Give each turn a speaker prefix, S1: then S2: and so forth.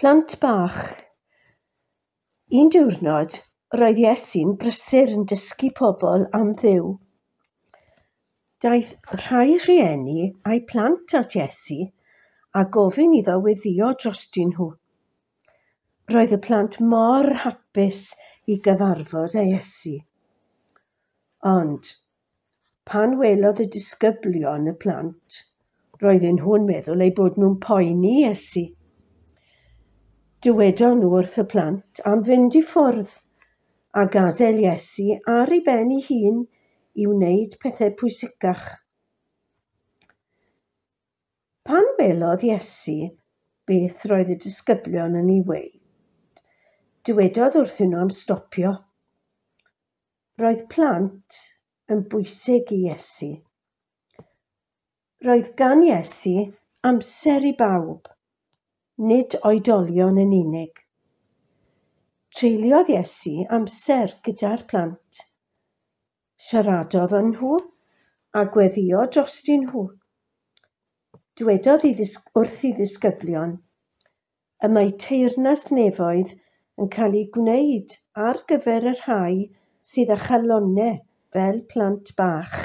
S1: Plant bach. Un diwrnod, roedd Iesu'n brysur yn dysgu pobl am Dduw. Daeth rhai rhieni a'u plant at Iesu a gofyn iddo weddïo drostyn nhw. Roedd y plant mor hapus i gyfarfod â Iesu. Ond, pan welodd y disgyblion y plant, roedden nhw'n meddwl eu bod nhw'n poeni Iesu. Dywedon nhw wrth y plant am fynd i ffwrdd a gadael Iesu ar ei ben ei hun i wneud pethau pwysicach. Pan welodd Iesu beth roedd y disgyblion yn ei weud, dywedodd wrthyn nhw am stopio. Roedd plant yn bwysig i Iesu. Roedd gan Iesu amser i bawb, nid oedolion yn unig. Treuliodd Iesu amser gyda'r plant. Siaradodd â nhw a gweddïo drostyn nhw. Dywedodd wrth ei ddisgyblion, y mae teyrnas nefoedd yn cael ei gwneud ar gyfer y rhai sydd â chalonnau fel plant bach.